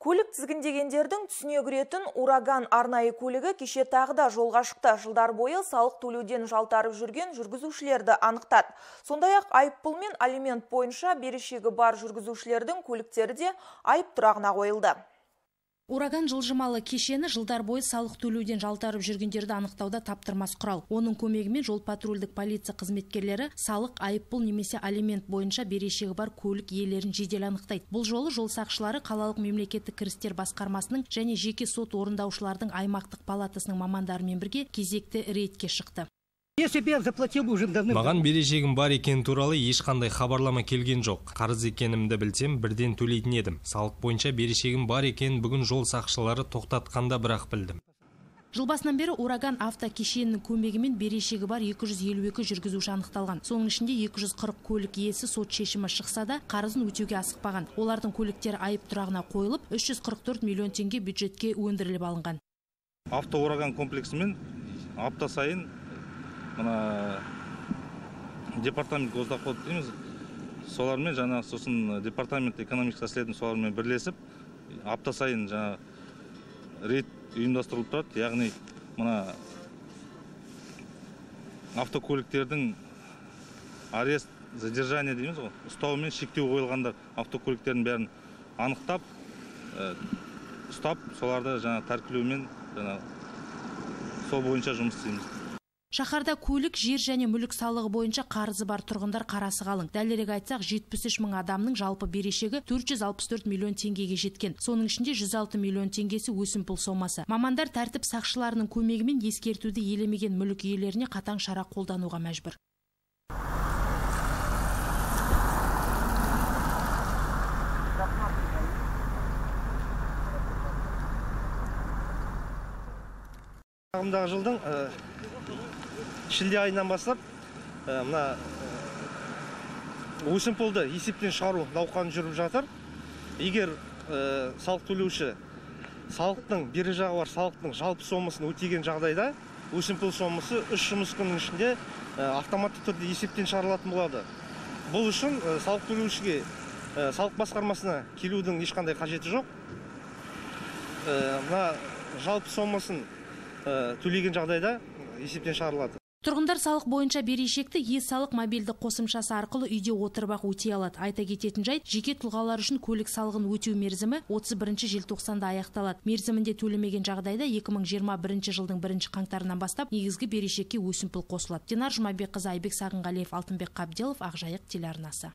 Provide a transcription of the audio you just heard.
Көлік тізгіндегендердің түсіне кіретін ураган арнайы көлігі кеше тағы да жолға шықты. Жылдар бойы салық төлеуден жалтарып жүрген жүргізушілерді анықтады. Сондай-ақ айыппұл мен алимент бойынша берешегі бар жүргізушілердің көліктері де айып тұрағына қойылды. Ураган жылжымалы кешені жылдар бойы салық төлеуден жалтарып жүргендерді анықтауда таптырмас құрал. Оның көмегімен жол патрульдік полиция қызметкерлері салық, айыппұл немесе алимент бойынша берешегі бар көлік иелерін жедел анықтайды. Бұл жолы жол сақшылары қалалық мемлекеттік кірістер басқармасының және жеке сот орындаушылардың аймақтық палатасының мамандарымен бірге кезекті рейдке шықты. Маған берешегім бар екен туралы ешқандай хабарлама келген жоқ. Қарыз екенімді білсем, бірден төлейтін едім. Салық бойынша берешегім бар екен бүгін жол сақшылары тоқтатқанда бірақ білдім. Жыл басынан бері ураган автокешенінің көмегімен берешегі бар 252 жүргізуші анықталған. Соның ішінде 240 көлік иесі сот шешімі шықса да қарызын өтеуге асықпаған. Олардың көліктері айып тұрағына қойылып, 344 миллион теңге бюджетке өндіріліп алынған. Автоураган комплексімен апта сайын департамент госдоход дейміз, солармен жаңа сосын департамент экономикалық расследование солармен бірлесіп апта сайын жаңа рейд ұйымдастырылып тұрады. Яғни автокөліктердің арест, задержание дейміз ғой, ұстау мен шектеу қойылғандар автокөліктердің бәрін анықтап, ұстап, соларды жаңа тәркілеумен сол бойынша жұмыс істейміз. Шаһарда көлік, жер және мүлік салығы бойынша қарызы бар тұрғындар қарасы қалың. Дәлірек айтсақ, 73 мың адамның жалпы берешегі 464 миллион теңгеге жеткен. Соның ішінде 106 миллион теңгесі өсімпұл сомасы. Мамандар тәртіп сақшыларының көмегімен ескертуді елемеген мүлік иелеріне қатаң шара қолдануға мәжбүр. Ағымдағы жылдың шілде айынан бастап өсімпұлды есептен шығару науқаны жүріп жатыр. Егер салық төлеуші салықтың бері жағы бар салықтың жалпы сомасын өтеген жағдайда өсімпұл сомасы 3 жұмыс күнінің ішінде автоматты түрде есептен шығарылатын болады. Бұл үшін салық төлеушіге салық басқармасына келудің ешқандай қажеті жоқ. Жалпы сомасын төлеген жағдайда есептен шығарылады. Тұрғындар салық бойынша берешекті е-салық мобильді қосымшасы арқылы үйде отырып-ақ өтей алады. Айта кететін жайт, жеке тұлғалар үшін көлік салығын өтеу мерзімі 31 желтоқсанда аяқталады. Мерзімінде төлемеген жағдайда 2021 жылдың 1 қаңтарынан бастап негізгі берешекке өсімпұл қосылады. Динар Жұмабекқызы, Айбек Сағынғалиев, Алтынбек Қабделов, Ақжайық телеарнасы.